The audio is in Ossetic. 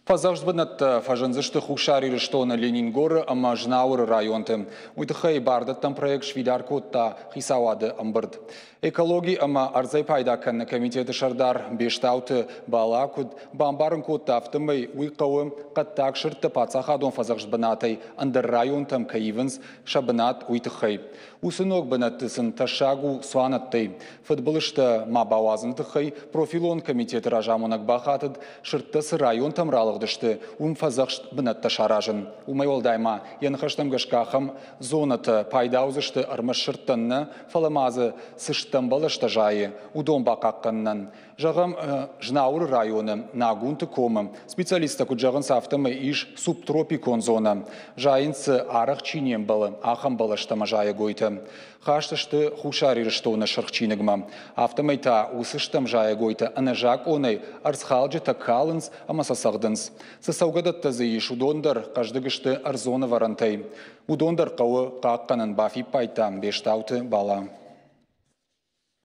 Фӕдзӕхст бынӕттӕ фӕзындзысты Хуссар Ирыстоны Ленингоры ӕмӕ Знауыры районты. Уый тыххӕй бардӕттӕн проект сфидар кодта хицауады ӕмбырд. Экологи ӕмӕ ӕрдзӕй пайда кӕныны комитеты сӕрдар Бестауты Бала куыд бамбарын кодта, афтӕмӕй уый хъӕуы хъӕддаг сырдтӕ паддзахадон фӕдзӕхст бынатӕй ӕндӕр районтӕм кӕй ивынц сӕ бынат, уый тыххӕй. Уыцы ног бынӕтты сын тӕссаг у цуанӕттӕй. Фыдбылызтӕ ма бауадзыны тыххӕй профилон комитеты разамонӕг бахатыд, сырдтӕ цы районтӕм ралыгъдысты, уым фӕдзӕхст бынӕттӕ саразын. Уымӕй уӕлдай ма йӕ ныхӕстӕм гӕсгӕ ахӕм зонӕтӕ пайда уыдзысты ӕрмӕст сырдтӕн нӕ, фӕлӕ ма дзы цы стӕм бӕлӕстӕ зайы, уыдон бахъахъхъӕнынӕн. Зӕгъӕм, Знауыры районы Нагунты комы специалисттӕ куыд зӕгъынц, афтӕмӕй ис субтропикон зонӕ. Зайынц дзы, арӕх чи не мбӕлы, ахӕм бӕлӕстӕ ӕмӕ зайӕгойтӕ. Хаст сты Хуссар Ирыстоны Сырх чиныгмӕ. Афтӕмӕй та уыцы стӕм зайӕгойтӕ ӕнӕзакъонӕй ӕрдзхалджытӕ калынц ӕмӕ сӕ цӕгъдынц. Цы цӕугӕдӕттӕ дзы ис, уыдон дӕр хъӕздыг сты ӕрдзон ӕвӕрӕнтӕй. Уыдон дӕр хъӕуы хъахъхъӕнын, бафиппайдта Бестауты Бала.